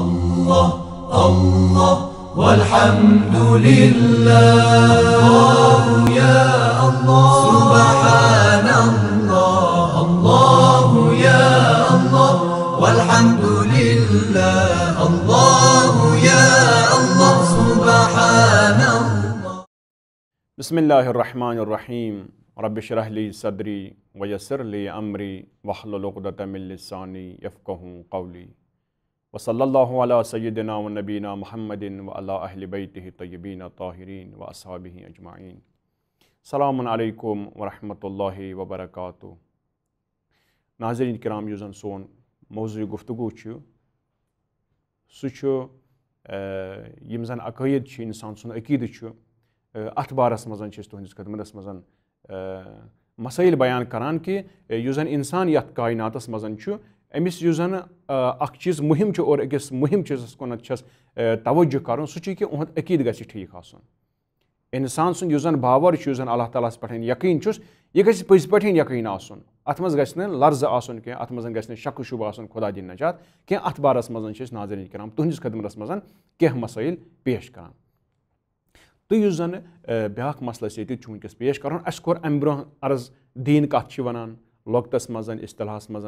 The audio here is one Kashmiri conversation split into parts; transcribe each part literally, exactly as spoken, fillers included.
الله، والحمد لله. الله يا الله. سبحان الله، الله يا الله. والحمد لله. الله يا الله. سبحان الله. بسم الله الرحمن الرحيم. رب اشرح لي صدري ويسر لي أمري واحلل عقدة من لساني يفقهوا قولي. وصلى الله على سيدنا ونبينا محمد وعلى أهل بيته الطيبين الطاهرين وأصحابه أجمعين. السلام عليكم ورحمة الله وبركاته. ناظرین کرام، یُس زن سون موضوع گفتگو چھُ، سُہ چھُ، آ، یِم زن عقٲیِد چھِ، انسان سُنٛد عقیٖدٕ چھُ، آ، اتھ بارس منٛز چھِ أسۍ تُہنٛدِس خدمتس منٛز، آ، مسٲیِل بیان کران کہِ، آ، یُس زن انسان یتھ کائناتس منٛز چھُ، أمِس یُس زن، آ، اکھ چیٖز مُہِم چھُ اور أکِس مُہِم چیٖزس کُنتھ چھس، آ، توجہ کرُن، سُہ چھُ کہِ اُہُنٛد عقیٖدٕ گژھِ ٹھیٖک آسُن۔ انسان سُنٛد یُس زن باور چھُ، یُس زن اللہ تعالیٰ ہس پٮ۪ٹھ یقیٖن چھُس، یہِ گژھِ پٔزۍ پٲٹھۍ یقیٖن آسُن۔ اتھ منٛز گژھِ نہٕ لرزٕ آسُن کینٛہہ، اتھ منٛز گژھِ نہٕ شک و شبہ آسُن، خدا دِنۍ نجات کینٛہہ۔ اتھ بارس منٛز چھِ أسۍ ناظرین کرام تُہنٛدِس خدمتس منٛز کینٛہہ مسٲیِل پیش کران۔ تہٕ یُس زن، آ، بیٛاکھ مسلہٕ اَسہِ ییٚتہِ چھُ وٕنکیٚس پیش کرُن، اَسہِ کوٚر امہِ برونٛہہ عرض، دیٖن کتھ چھِ ونان لۄکٹس منٛز، اصطلاحس منٛز،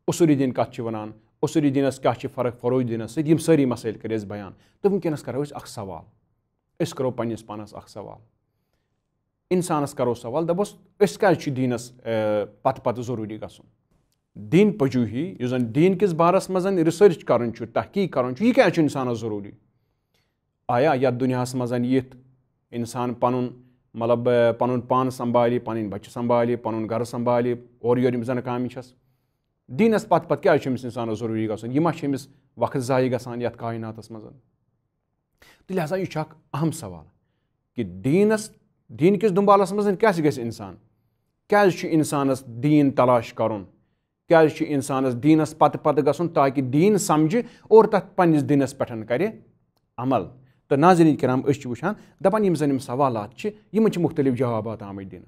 اصوٗلی دیٖن کتھ چھِ ونان، اصوٗلی دیٖنس کیٛاہ چھِ فرق فروعی دیٖنس سۭتۍ، یِم سٲری مسٲیِل کٔرۍ اَسہِ بیان۔ تہٕ وٕنکیٚنس کرو أسۍ اکھ سوال۔ أسۍ کرو پننِس پانس اکھ سوال۔ انسانس کرو سوال، دپوس، أسۍ کیٛازِ چھِ دیٖنس، آ، پتہٕ پتہٕ ضروٗری گژھُن؟ دیٖن پجوہی، یُس زن دیٖن کِس بارس منٛز research کرُن چھُ، تحقیق کرُن چھُ، یہِ کیٛازِ چھُ انسانس ضروٗری؟ آیا یتھ دُنیاہس منٛز یِتھ انسان پنُن، مطلب، آ، پنُن پان سنبھالہِ، پنٕنۍ بچہِ سنبھالہِ، پنُن گرٕ سنبھالہِ، اورٕ یورٕ یِم زن کامہِ چھس، دیٖنس پتہٕ پتہٕ کیٛازِ چھُ أمِس انسانس ضروٗری گژھُن؟ یہِ ما چھُ أمِس وقت ضایع گژھان یتھ کائناتس منٛز؟ تہٕ لہذا یہِ چھُ اکھ اہم سوال کہِ دیٖنس، دیٖن کِس دُنبالس منٛز کیٛازِ گژھِ انسان؟ کیٛازِ چھُ انسانس دیٖن تلاش کرُن؟ کیٛازِ چھُ انسانس دیٖنس پتہٕ پتہٕ گژھُن تاکہِ دیٖن سمجھِ اور تتھ پننِس دیٖنس پٮ۪ٹھ کرِ عمل؟ تہٕ ناظرین کرام، أسۍ چھِ وٕچھان، دپان، یِم زن یِم سوالات چھِ، یِمن چھِ مختلف جوابات آمٕتۍ دِنہٕ۔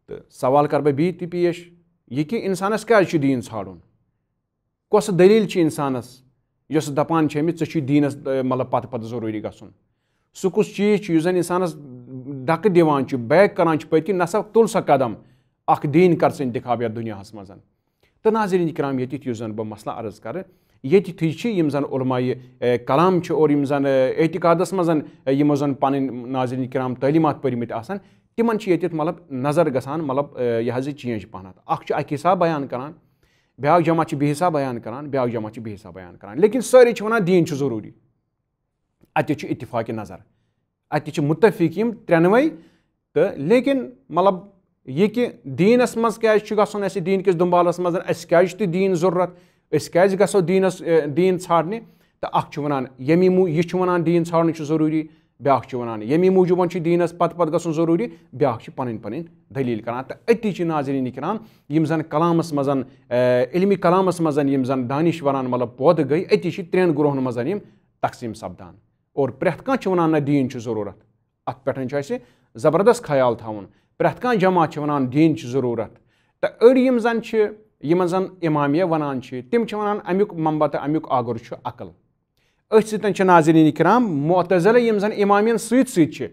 تہٕ سوال کرٕ بہٕ بیٚیہِ تہِ پیش، یہِ کہِ انسانس کیٛازِ چھُ دیٖن ژھانڈُن؟ کۄس دٔلیٖل چھِ انسانس، یۄس دپان چھِ أمِس، ژےٚ چھُے دیٖنس، آ، مطلب، پتہٕ پتہٕ ضروٗری گژھُن؟ سُہ کُس چیٖز چھُ یُس زن انسانس دکہٕ دِوان چھُ، back کران چھُ پٔتۍ کِنۍ، نسا تُل سا قدم، اکھ دیٖن کر ژٕ انتخاب یتھ دُنیاہس منٛز؟ تہٕ ناظرین کرام، ییٚتہِ یُس زن بہٕ مسلہٕ عرض کرٕ، ییٚتہِ تھٕے چھِ یِم زن علماء، آ، کلام چھِ اور یِم زن، آ، اعتقادس منٛز، آ، یِمو زن پنٕنۍ ناظرین کرام تعلیٖمات پٔرمٕتۍ آسان، تِمن چھِ ییٚتٮ۪تھ، مطلب، نظر گژھان، مطلب، آ، یہِ حظ یہِ change پہنتھ۔ اکھ چھُ اکہِ حساب بیان کران، بیٛاکھ جماعت چھِ بیٚیہِ حساب بیان کران، بیٛاکھ جماعت چھِ بیٚیہِ حساب بیان کران، لیکن سٲری چھِ ونان دیٖن چھُ ضروٗری۔ اتہِ چھُ اتفاق نظر، اتہِ چھِ متفق یِم ترٛٮ۪نوَے۔ تہٕ لیکن، مطلب، یہِ کہِ دیٖنس منٛز کیٛازِ چھُ گژھُن اَسہِ دیٖن کِس دُنبالس منٛز، اَسہِ کیٛازِ چھُ دیٖن ضروٗرت، أسۍ کیٛازِ گژھو دیٖنس، اے، دیٖن ژھانڈنہِ؟ تہٕ اکھ چھُ ونان ییٚمی مو-، یہِ چھُ ونان دیٖن ژھانڈُن چھُ ضروٗری، بیٛاکھ چھُ ونان ییٚمی موٗجوٗبن چھُ دیٖنس پتہٕ پتہٕ گژھُن ضروٗری، بیٛاکھ چھُ پنٕنۍ پنٕنۍ دٔلیٖل کران۔ تہٕ أتی چھِ ناظرین کرام، یِم زن کلامس منٛز، اے، علمی کلامس منٛز یِم زن دانشورن، مطلب، پٲدٕ گٔے، أتی چھِ ترٛٮ۪ن گروہن منٛز یِم تقسیٖم سپدان۔ اور پرٛٮ۪تھ کانٛہہ چھُ ونان، نہ، دیٖن چھُ ضروٗرت۔ اتھ پٮ۪ٹھ چھُ اَسہِ زبردست خیال تھاوُن۔ پرٛٮ۪تھ کانٛہہ جماعت چھِ ونان، دیٖن چھُ ضروٗرت۔ تہٕ أڑۍ یِم زن چھِ، یِمن زن امامیہ ونان چھِ، تِم چھِ ونان، امیُک منبع تہٕ امیُک آگر چھُ عقل۔ أتھۍ سۭتۍ چھِ، ناظرین کرام، معتزلہ، یِم زن امامیَن سۭتۍ سۭتۍ چھِ،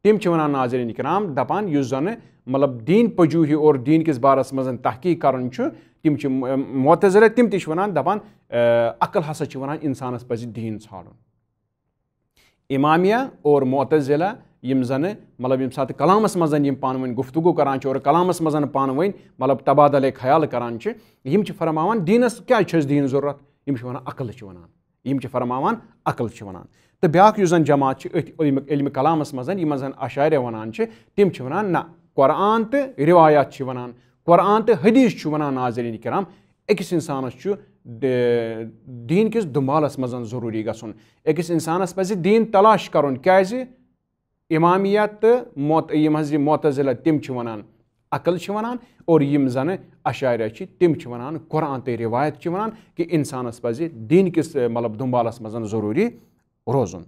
تِم چھِ ونان، ناظرین کرام، دپان، یُس زن، مطلب، دیٖن پجوہی اور دیٖن کِس بارس منٛز تحقیق کرُن چھُ، تِم چھِ م-، معتزلہ، تِم تہِ چھِ ونان، دپان، آ، عقل ہسا چھِ ونان، انسانس پزِ دیٖن ژھانڈُن۔ امامیہ اور معتزلہ، یِم زن، مطلب، ییٚمہِ ساتہٕ کلامس منٛز یِم پانہٕ ؤنۍ گفتگو کران چھِ اور کلامس منٛز پانہٕ ؤنۍ، مطلب، تبادلے خیال کران چھِ، یِم چھِ فرماوان، دیٖنس کیٛازِ چھُ اَسہِ دیٖن ضروٗرت؟ یِم چھِ ونان، عقل چھِ ونان۔ یِم چھِ فرماوان، عقل چھِ ونان۔ تہٕ بیٛاکھ یُس زن جماعت چھِ أتھۍ علمِ، علمِ کلامس منٛز، یِمن زن اشاعرہ ونان چھِ، تِم چھِ ونان، نہ، قرآن تہٕ روایات چھِ ونان، قرآن تہٕ حدیث چھُ ونان، ناظرین کرام، أکِس اِنسانَس چھُ دے-، دیٖن کِس دُنبالَس منٛز ضروٗری گژھُن۔ أکِس اِنسانَس پَزِ دیٖن تلاش کَرُن۔ کیٛازِ؟ اِمامیہ تہٕ معت-، یِم حظ یہِ معتزلہ، تِم چھِ وَنان، عقل چھِ وَنان، اور یِم زَنہٕ اشاعرہ چھِ، تِم چھِ وَنان، قرآن تہٕ رِوایت چھِ وَنان کہِ اِنسانَس پَزِ دیٖن کِس، مطلب، دُنبالَس منٛز ضروٗری روزُن۔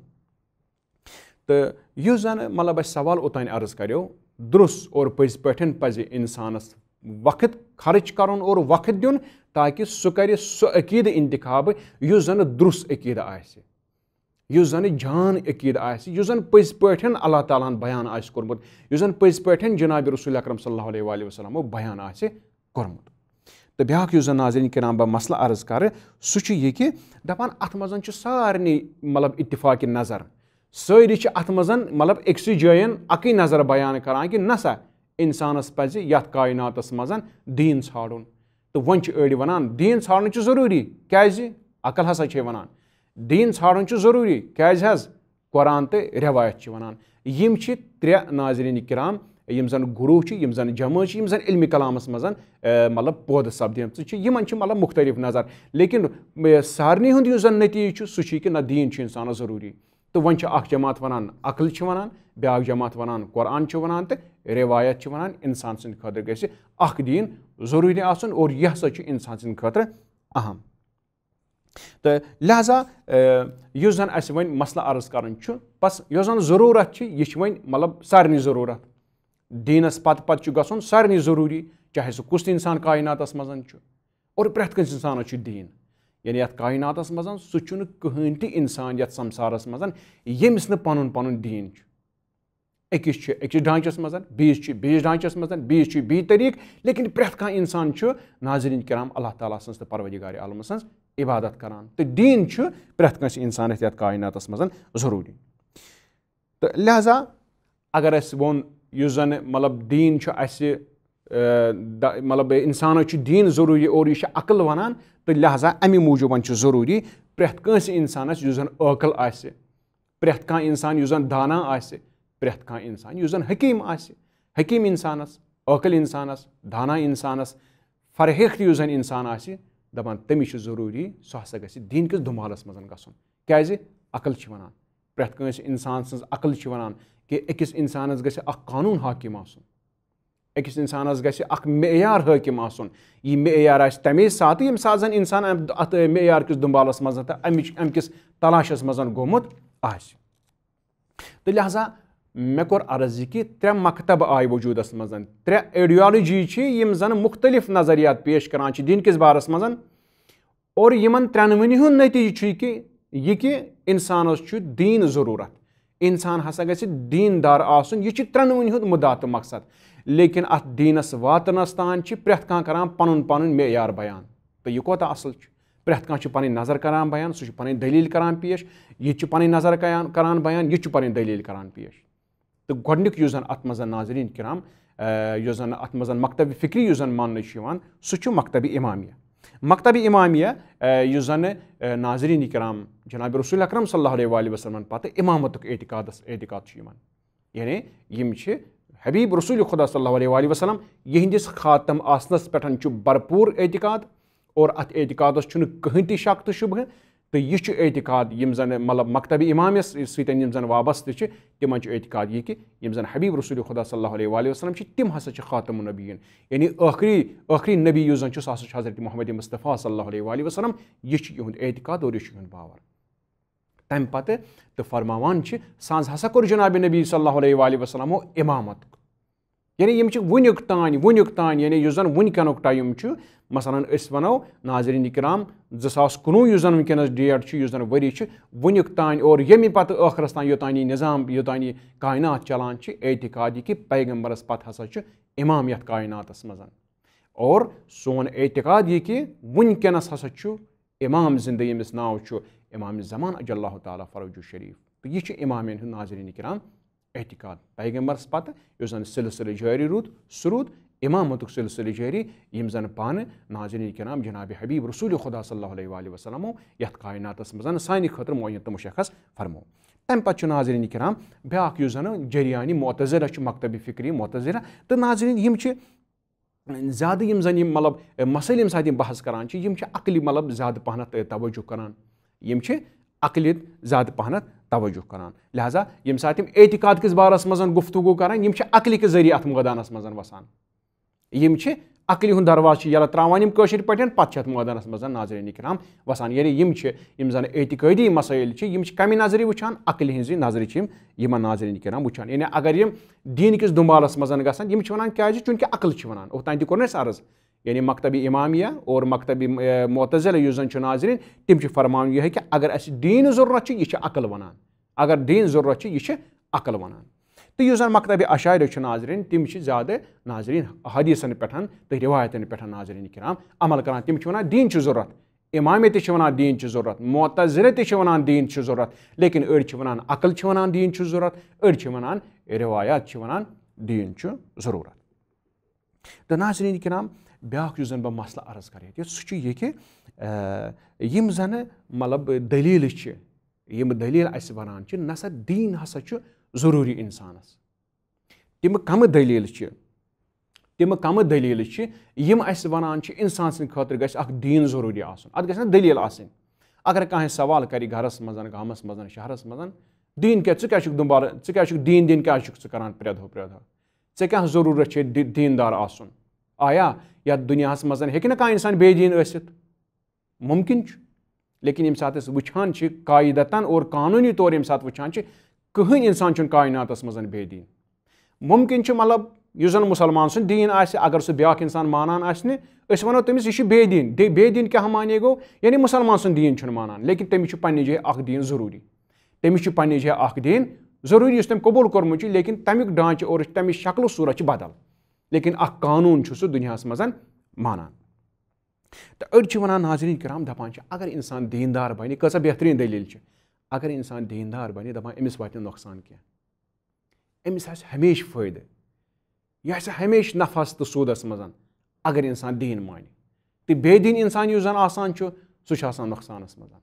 تہٕ یُس زن، مطلب، اَسہِ سوال اوٚتام عرض کریو، درُس اور پٔزۍ پٲٹھۍ پزِ انسانس وقت خرچ کرُن اور وقت دیُن، تاکہ سُہ کرِ سُہ عقیدٕ انتخاب یُس زن درست عقیدٕ آسہِ، یُس زن جان عقیدٕ آسہِ، یُس زن پٔزۍ پٲٹھۍ اللہ تعالیٰ ہن بیان آسہِ کوٚرمُت، یُس زن پٔزۍ پٲٹھۍ جناب رسول اکرم صلی اللہ علیہ وآلہ وسلمو بیان آسہِ کوٚرمُت۔ تہٕ بیٛاکھ یُس زَن ناظریٖن کرام بہٕ مسلہٕ عرض کرٕ، سُہ چھُ یہِ کہِ دَپان اَتھ منٛز چھُ سارنٕے مطلب اتفاق نظر، سٲری چھِ اَتھ منٛز مطلب أکسٕے جایَن اَکٕے نظر بیان کران کہِ نہ سا، اِنسانَس پَزِ یَتھ کایناتَس منٛز دیٖن ژھانٛڈُن۔ تہٕ وۄنۍ چھِ أڑۍ وَنان دیٖن ژھانٛڈُن چھُ ضروٗری، کیٛازِ؟ عقل ہسا چھے وَنان دیٖن ژھانٛڈُن چھُ ضروٗری، کیٛازِ حظ؟ قرآن تہٕ رٮ۪وایت چھِ وَنان۔ یِم چھِ ترٛےٚ ناظریٖن کرام، یِم زَن گروہ چھِ، یِم زَن جمٲژ چھِ، یِم زَن علمِ کلامَس منٛز، اے، مطلب پٲدٕ سپدیمژٕ چھِ، یِمَن چھِ مطلب مختلف نظر۔ لیکن، اے، سارنٕے ہُنٛد یُس زَن نتیٖجہٕ چھُ، سُہ چھُ یہِ کہِ نہ، دیٖن چھُ اِنسانَس ضروٗری۔ تہٕ وۄنۍ چھِ اَکھ جماعت وَنان عقل چھِ وَنان، بیٛاکھ جماعت وَنان قرآن چھِ وَنان، تہٕ رٮ۪وایت چھِ وَنان اِنسان سٕنٛدِ خٲطرٕ گژھِ اَکھ دیٖن ضروٗری آسُن، اور یہِ ہسا چھُ اِنسان سٕنٛدِ خٲطرٕ اہم۔ تہٕ لہذا، اے، یُس زَن اَسہِ وۄنۍ مسلہٕ عرض کَرُن چھُ، بس یۄس زَن ضروٗرت چھِ، یہِ چھِ وۄنۍ مطلب سارنٕے ضروٗرت۔ دیٖنَس پتہٕ پتہٕ چھُ گژھُن سارنٕے ضروٗری، چاہے سُہ کُس تہِ اِنسان کایناتَس منٛز چھُ۔ اور پرٛٮ۪تھ کٲنٛسہِ اِنسانَس چھُ دیٖن، یعنی یَتھ کایناتَس منٛز سُہ چھُنہٕ کٕہٕنۍ تہِ اِنسان یَتھ سمسارَس منٛز ییٚمِس نہٕ پَنُن پَنُن دیٖن چھُ۔ أکِس چھُ أکِس ڈھانچس منٛز، بیٚیِس چھُ بیٚیِس ڈھانچس منٛز، بیٚیِس چھُ بیٚیہِ طریٖقہٕ، لیکن پرٛٮ۪تھ کانٛہہ اِنسان چھُ ناظریٖن کرام اللہ تعالیٰ سٕنٛز تہٕ پروردگار عالمہٕ سٕنٛز عبادت کران۔ تہٕ دیٖن چھُ پرٛٮ۪تھ کٲنٛسہِ اِنسانَس یَتھ کایناتَس منٛز ضروٗری۔ تہٕ لہذا اگر اَسہِ ووٚن، یُس زَن مطلب دیٖن چھُ اَسہِ، اے، دَ-، مطلب اِنسانَس چھُ دیٖن ضروٗری اور یہِ چھُ عقل وَنان، تہٕ لہذا اَمہِ موٗجوٗبَن چھُ ضروٗری پرٛٮ۪تھ کٲنٛسہِ اِنسانَس یُس زَن عٲقل آسہِ، پرٛٮ۪تھ کانٛہہ اِنسان یُس زَن دانا آسہِ، پرٛٮ۪تھ کانٛہہ اِنسان یُس زَن حکیٖم آسہِ، حکیٖم اِنسانَس، عٲقل اِنسانَس، دانا اِنسانَس، فرہیخت یُس زَن اِنسان آسہِ، دَپان تٔمِس چھُ ضروٗری سُہ ہسا گژھِ دیٖن کِس دُمالَس منٛز گژھُن۔ کیٛازِ؟ عقل چھِ وَنان، پرٛٮ۪تھ کٲنٛسہِ اِنسان سٕنٛز عقل چھِ وَنان کہِ أکِس اِنسانَس گژھِ اَکھ قانوٗن حٲکِم آسُن، أکِس اِنسانَس گژھِ اَکھ معیار حٲکِم آسُن۔ یہِ معیار آسہِ تَمے ساتہٕ، ییٚمہِ ساتہٕ زَن اِنسان اَمہِ، اَتھ معیار کِس دُمبالَس منٛز تہٕ اَمِچ، اَمہِ کِس تلاشَس منٛز گوٚمُت آسہِ۔ تہٕ لہذا مےٚ کوٚر عرض یہِ کہِ ترٛےٚ مکتب آیہِ وجوٗدَس منٛز، ترٛےٚ ایڈیالجی چھِ، یِم زَن مُختٔلِف نظریات پیش کران چھِ دیٖن کِس بارَس منٛز۔ اور یِمن ترٛٮ۪نوٕنی ہُنٛد نتیٖجہٕ چھُ یہِ کہِ، یہِ کہِ اِنسانَس چھُ دیٖن ضروٗرت۔ اِنسان ہسا گژھِ دیٖندار آسُن۔ یہِ چھُ ترٛٮ۪نوٕنی ہُنٛد مُدا تہٕ مقصد۔ لیکن اَتھ دیٖنَس واتنَس تام چھِ پرٛٮ۪تھ کانٛہہ کران پَنُن پَنُن معیار بیان۔ تہٕ یہِ کوٗتاہ اَصٕل چھُ۔ پرٛٮ۪تھ کانٛہہ چھُ پَنٕنۍ نظر کران بیان، سُہ چھُ پَنٕنۍ دٔلیٖل کران پیش، یہِ تہِ چھُ پَنٕنۍ نظر کران، کران بیان، یہِ تہِ چھُ پَنٕنۍ دٔلیٖل کران پیش۔ تہٕ گۄڈٕنیُک یُس زَن اَتھ منٛز ناظریٖن کرام، اے، یُس زَن اَتھ منٛز مکتبِ فکری یُس زَن ماننہٕ چھُ یِوان، سُہ چھُ مکتبِ امامیہ۔ مکتبِ امامیہ، اے، یُس زَن، اے، ناظریٖن کرام جناب رسول اکرم صلی اللہ علیہ وآلہ وسلمن پتہٕ امامتُک اعتقادس، اعتقاد چھُ یِمن۔ یعنی یِم چھِ حبیب رسول خدا صلی اللہ علیہ وآلہ وسلم، یِہنٛدِس خاتم آسنس پٮ۪ٹھ چھُ بھرپوٗر اعتقاد، اور اتھ اعتقادس چھُنہٕ کٕہٕنۍ تہِ شک تہٕ شبہٕ۔ تہٕ یہِ چھُ اعتقاد یِم زن مطلب مکتبِ امامیس سۭتۍ یِم زن وابستہٕ چھِ، تِمن چھُ اعتقاد یہِ کہِ یِم زن حبیب رسول خدا صلی اللہ علیہ وآلہ وسلم چھِ، تِم ہسا چھِ خاتم النبیین، یعنی ٲخری، ٲخری نبی یُس زن چھُ، سُہ ہسا چھُ حضرت محمد مصطفیٰ صلی اللہ علیہ وآلہ وسلم۔ یہِ چھُ یِہُنٛد اعتقاد اور یہِ چھُ یِہُنٛد باور۔ تَمہِ پتہٕ تہٕ فرماوان چھِ، سانٛز ہسا کوٚر جناب نبی صلی اللہ علیہ وآلہ وسلمو امامت۔ یعنی یِم چھِ وٕنیُک تام، وٕنیُک تام، یعنی یُس زَن وٕنکیٚنُک ٹایم چھُ، مثلاً أسۍ وَنو ناظریٖن کرام، زٕ ساس کُنوُہ یُس زَن وٕنکیٚنَس ڈیٹ چھُ، یُس زَن ؤری چھُ، وٕنیُک تام اور ییٚمہِ پَتہٕ ٲخرَس تام یوٚتام یہِ نظام، یوٚتام یہِ کائنات چلان چھِ، اعتقاد یہِ کہِ پیغمبرَس پَتہٕ ہسا چھُ امام یَتھ کائناتَس منٛز۔ اور سون اعتقاد یہِ کہِ وٕنکیٚنَس ہسا چھُ امام زِندٕ، ییٚمِس ناو چھُ امام زمان عجل اللہ تعالیٰ فرجہ شریف۔ تہٕ یہِ چھُ امامین ہُنٛد ناظریٖن کرام اعتقاد۔ پیغمبرس پتہٕ یُس زن سلسلہٕ جٲری روٗد، سُہ روٗد امامتُک سلسلہٕ جٲری، یِم زن پانہٕ ناظریٖن کرام جناب حبیب رسول خدا صلی اللہ علیہ وآلہ وسلمو یتھ کائناتس منٛز سانہِ خٲطرٕ معین تہٕ مشخص فرمو۔ تمہِ پتہٕ چھُ ناظریٖن کرام بیاکھ یُس زن جریانی معتزلہ چھُ، مکتبِ فکری معتزلہ۔ تہٕ ناظریٖن، یِم چھِ زیادٕ یِم زَن یِم مطلب، اے، مسٲیِل ییٚمہِ ساتہٕ یِم بحث کران چھِ، یِم چھِ عقلہِ مطلب زیادٕ پہنتھ، اے، توجہ کران۔ یِم چھِ عقلہِ زیادٕ پہنتھ توجہ کران۔ لہذا ییٚمہِ ساتہٕ یِم اعتقاد کِس بارس منٛز گفتگو کران، یِم چھِ عقلہِ کہِ ذٔریعہٕ اَتھ مٲدانس منٛز وسان۔ یِم چھِ عقلہِ ہُنٛد دروازٕ چھِ یَلہٕ ترٛاوان یِم کٲشِر پٲٹھۍ، پَتہٕ چھِ اَتھ مٲدانَس منٛز ناظریٖن کرام وَسان۔ یعنی یِم چھِ، یِم زَن اعتقٲدی مسٲیِل چھِ، یِم چھِ کَمہِ نظرِ وٕچھان؟ عقلہِ ہِنٛزِ نظرِ چھِ یِم یِمَن ناظریٖن کرام وٕچھان۔ یعنی اگر یِم دیٖن کِس دُنبالَس منٛز گژھن، یِم چھِ وَنان کیٛازِ؟ چوٗنٛکہِ عقل چھِ وَنان۔ اوٚتام تہِ کوٚر نہ اَسہِ عرض، یعنی مکتبِ امامیہ اور مکتبِ، اے، معتزلہ یُس زَن چھُ ناظریٖن، تِم چھِ فرماوان یِہوٚے کہِ اگر اَسہِ دیٖن ضروٗرت چھِ، یہِ چھِ عقل وَنان۔ اگر دیٖن ضروٗرت چھِ، یہِ چھِ عقل وَنان۔ تہٕ یُس زَن مکتبِ اشاعرہ چھُ ناظریٖن، تِم چھِ زیادٕ ناظریٖن حدیثن پٮ۪ٹھ تہٕ رِوایتن پٮ۪ٹھ ناظریٖن کرام عمل کران۔ تِم چھِ وَنان دیٖن چھُ ضروٗرت، امامیہ تہِ چھِ وَنان دیٖن چھُ ضروٗرت، معتزلہ تہِ چھِ وَنان دیٖن چھُ ضروٗرت، لیکن أڑۍ چھِ وَنان عقل چھِ وَنان دیٖن چھُ ضروٗرت، أڑۍ چھِ وَنان رِوایات چھِ وَنان دیٖن چھُ ضروٗرت۔ تہٕ ناظریٖن کرام، بیٛاکھ یُس زَن بہٕ مسلہٕ عرض کَرٕ ییٚتہِ، سُہ چھُ یہِ کہِ، آ، یِم زَنہٕ مطلب دٔلیٖلہٕ چھِ، یِم دٔلیٖل اَسہِ وَنان چھِ، نہ سا دیٖن ہسا چھُ ضروٗری اِنسانَس۔ تِم کَمہٕ دٔلیٖلہٕ چھِ؟ تِم کَمہٕ دٔلیٖلہٕ چھِ، یِم اَسہِ وَنان چھِ اِنسان سٕنٛدِ خٲطرٕ گژھِ اَکھ دیٖن ضروٗری آسُن؟ اَتھ گژھِ نہ دٔلیٖل آسٕنۍ۔ اگر کانٛہہ سوال کَرِ گَرَس منٛز، گامَس منٛز، شہرَس منٛز، دیٖن کیٛاہ، ژٕ کیٛاہ چھُکھ دُنبالہٕ، ژٕ کیٛاہ چھُکھ دیٖن، دیٖن کیٛاہ چھُکھ ژٕ کَران پرٛٮ۪تھ دۄہ، پرٛٮ۪تھ دۄہ؟ ژےٚ کیٛاہ ضروٗرت چھے دی-، دیٖندار آسُن؟ آیا یتھ دُنیاہس منٛز ہیٚکہِ نہٕ کانٛہہ انسان بے دین ٲسِتھ؟ ممکن چھُ، لیکن ییٚمہِ ساتہٕ أسۍ وٕچھان چھِ قاعدتاً اور قانوٗنی طور، ییٚمہِ ساتہٕ وٕچھان چھِ، کٕہٕنۍ انسان چھُنہٕ کائناتس منٛز بے دین۔ ممکن چھُ، مطلب، یُس زن مسلمان سُنٛد دین آسہِ، اگر سُہ بیٛاکھ انسان مانان آسہِ نہٕ، أسۍ ونو تٔمِس، یہِ چھُ بے دین۔ دے-، بے دین کیٛاہ معنی گوٚو؟ یعنی مسلمان سُنٛد دین چھُنہٕ مانان، لیکن تٔمِس چھُ پننہِ جایہِ اکھ دین ضروٗری۔ تٔمِس چھُ پننہِ جایہِ اکھ دین ضروٗری، یُس تٔمۍ قبول کوٚرمُت چھُ، لیکن تمیُک ڈھانچہٕ اور تمِچ شکل و صورت چھِ بدل۔ لیکن اکھ قانوٗن چھُ سُہ دُنیاہَس منٛز مانان۔ تہٕ أڑۍ چھِ وَنان، ناظریٖن کرام، دَپان چھِ، اگر اِنسان دیٖندار بَنہِ، کۭژاہ بہتریٖن دٔلیٖل چھِ۔ اگر اِنسان دیٖندار بَنہِ، دَپان، أمِس واتہِ نہٕ نۄقصان کینٛہہ، أمِس آسہِ ہمیشہِ فٲیدٕ، یہِ آسہِ ہمیشہِ نفعس تہٕ سوٗدَس منٛز۔ اگر اِنسان دیٖن مانہِ، تہٕ بے دیٖن اِنسان یُس زَن آسان چھُ، سُہ چھُ آسان نۄقصانَس منٛز،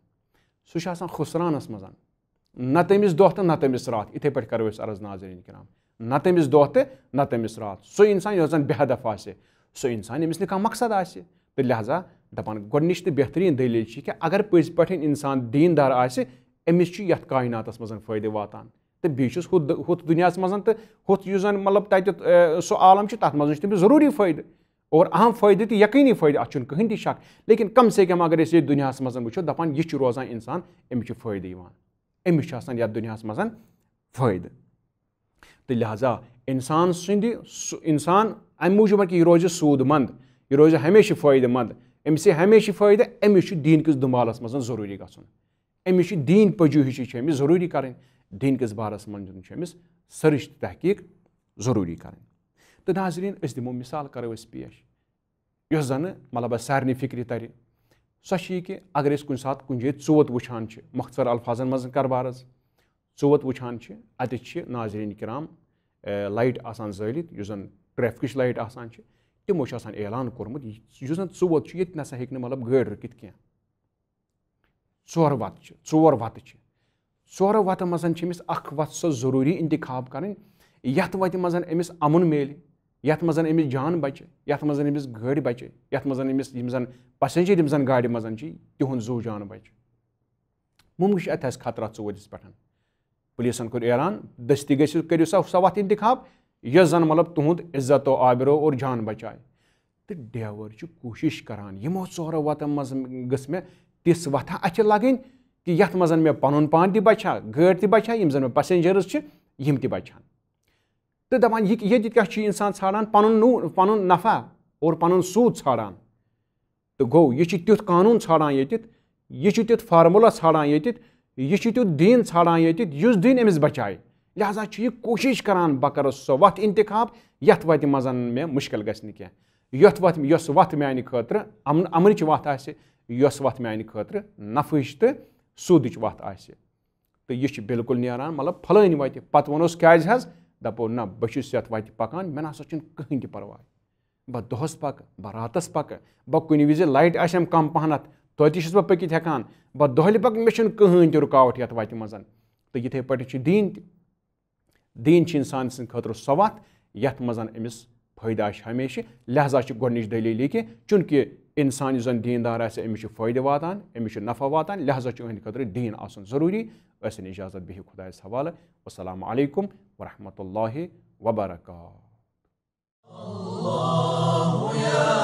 سُہ چھُ آسان خُسرانَس منٛز۔ نہ تٔمِس دۄہ تہٕ نہ تٔمِس راتھ۔ یِتھَے پٲٹھۍ کَرو أسۍ عرض، ناظریٖن کرام، نہ تٔمِس دۄہ تہٕ نہ تٔمِس راتھ۔ سُہ اِنسان یۄس زَن بے ہدف آسہِ، سُہ اِنسان، ییٚمِس نہٕ کانٛہہ مقصد آسہِ۔ تہٕ لہذا دَپان، گۄڈٕنِچ تہٕ بہتریٖن دٔلیٖل چھِ کہِ اگر پٔزۍ پٲٹھۍ اِنسان دیٖندار آسہِ، أمِس چھُ یَتھ کائناتَس منٛز فٲیدٕ واتان۔ تہٕ بیٚیہِ چھُس ہُتھ دُ-، ہُتھ دُنیاہَس منٛز تہٕ ہُتھ یُس زَن، مطلب، تَتہِ، اے، سُہ عالم چھُ، تَتھ منٛز چھُ تٔمِس ضروٗری فٲیدٕ۔ اور اہم فٲیدٕ تہٕ یقینی فٲیدٕ، اَتھ چھُنہٕ کٕہٕنۍ تہِ شک۔ لیکن کم سے کم اگر أسۍ ییٚتہِ دُنیاہَس منٛز وٕچھو، دَپان، یہِ چھُ روزان اِنسان، أمِس چھُ فٲیدٕ یِوان۔ أمِس چھُ آسان یَتھ دُنیاہَس منٛز فٲیدٕ۔ تہٕ لہذا اِنسان سٕنٛدِ، سُہ اِنسان اَمہِ موٗجوٗب کہِ یہِ روزِ سوٗد مند، یہِ روزِ ہمیشہِ فٲیدٕ مند، أمِس یی ہمیشہِ فٲیدٕ، أمِس چھُ دیٖن کِس دُنبالَس منٛز ضروٗری گژھُن۔ أمِس چھُ دیٖن پجوہِشی چھِ أمِس ضروٗری کَرٕنۍ، دیٖن کِس بارَس منٛز چھُ أمِس سٔرٕچ تہٕ تحقیٖق ضروٗری کَرٕنۍ۔ تہٕ ناظریٖن، أسۍ دِمو مِثال، کَرو أسۍ پیش، یۄس زَنہٕ، مطلب، اَسہِ سارنٕے فِکرِ تَرِ۔ سۄ چھِ یہِ کہِ اگر أسۍ کُنہِ ساتہٕ کُنہِ جایہِ ژوت وٕچھان چھِ، مۄختصر الفاظن منٛز کَرٕ بہٕ عرض، ژوت وٕچھان چھِ، اَتہِ چھِ، ناظریٖن کرام، اے، لایٹ آسان زٲلِتھ، یُس زَن ٹریفکٕچ لایٹ آسان چھِ، تِمو چھُ آسان اعلان کوٚرمُت، یہِ، یُس زَن ژوت چھُ، ییٚتہِ نَسا ہیٚکہِ نہٕ، مطلب، گٲڑۍ رُکِتھ کینٛہہ۔ ژورٕ وَتہٕ چھِ، ژور وَتہٕ چھِ۔ ژورو وَتو منٛز چھِ أمِس اَکھ وَتھ سۄ ضروٗری اِنتِخاب کَرٕنۍ، یَتھ وَتہِ منٛز أمِس اَمُن میلہِ، یَتھ منٛز أمِس جان بَچہِ، یَتھ منٛز أمِس گٲڑۍ بَچہِ، یَتھ منٛز أمِس، یِم زَن passenger، یِم زَن گاڑِ منٛز چھِ، تِہُنٛد زُو جان بَچہِ۔ مُمکِن چھُ اَتہِ آسہِ خطرات ژوٗرِس پٮ۪ٹھ۔ پُلیٖسَن کوٚر اعلان، دٔستی گٔژھِو، کٔرِو سا سۄ وَتھ اِنتِخاب، یۄس زَن، مطلب، تُہُنٛد عزت و آبرو اور جان بَچایہِ۔ تہٕ ڈرٛیوَر چھُ کوٗشِش کَران، یِمو ژورو وَتو منٛز گٔژھ مےٚ تِژھ وَتھا اَتھِ لَگٕنۍ کہِ یَتھ منٛز مےٚ پَنُن پان تہِ بَچہِ ہا، گٲڑۍ تہِ بَچہِ ہا، یِم زَن مےٚ passengers چھِ، یِم تہِ بَچہِ ہَن۔ تہٕ دَپان، یہِ، ییٚتہِ کیٛاہ چھُ اِنسان ژھانٛڈان؟ پَنُن نوٗ-، پَنُن نفع اور پَنُن سوٗد ژھانٛڈان۔ تہٕ گوٚو، یہِ چھُ تیُتھ قانوٗن ژھانٛڈان ییٚتٮ۪تھ، یہِ چھُ تیُتھ formula ژھانٛڈان ییٚتٮ۪تھ، یہِ چھُ تیُتھ دیٖن ژھانٛڈان ییٚتٮ۪تھ، یُس دیٖن أمِس بچایہِ۔ لہذا چھُ یہِ کوٗشِش کران، بہٕ کرٕ سۄ وَتھ اِنتِخاب، یَتھ وَتہِ منٛز مےٚ مُشکِل گژھِ نہٕ کینٛہہ، یَتھ وَتھ، یۄس وَتھ میٛانہِ خٲطرٕ امن، امنٕچ وَتھ آسہِ، یۄس وَتھ میٛانہِ خٲطرٕ نفعٕچ تہٕ سوٗدٕچ وَتھ آسہِ۔ تہٕ یہِ چھُ بالکل نیران، مطلب، پھلٲنۍ وَتہِ۔ پَتہٕ ووٚنُس، کیٛازِ حظ؟ دَپو، نہ، بہٕ چھُس یَتھ وَتہِ پَکان، مےٚ نہ سا چھُنہٕ کٕہٕنۍ تہِ پَرواے۔ بہٕ دۄہَس پَکہٕ، بہٕ راتَس پَکہٕ، بہٕ کُنہِ وِزِ لایٹ آسٮ۪م کَم پَہنَتھ، توتہِ چھُس بہٕ پٔکِتھ ہٮ۪کان۔ بہٕ دۄہلہِ پَکہٕ، مےٚ چھُنہٕ کٕہٕنۍ تہِ رُکاوَٹ یَتھ وَتہِ منٛز۔ تہٕ یِتھَے پٲٹھۍ چھُ دیٖن تہِ۔ دیٖن چھِ اِنسان سٕنٛدِ خٲطرٕ سۄ وَتھ، یَتھ منٛز أمِس فٲیدٕ آسہِ ہمیشہِ۔ لہذا چھِ گۄڈٕنِچ دٔلیٖل یہِ کہِ چوٗنٛکہِ اِنسان یُس زَن دیٖندار آسہِ، أمِس چھُ فٲیدٕ واتان، أمِس چھُ نفع واتان، لہذا چھُ أہٕنٛدِ خٲطرٕ دیٖن آسُن ضروٗری۔ ٲسِن اِجازت، بِہِو خۄدایَس حوالہٕ۔ والسلام علیکم ورحمۃ اللہ وبرکاتہ۔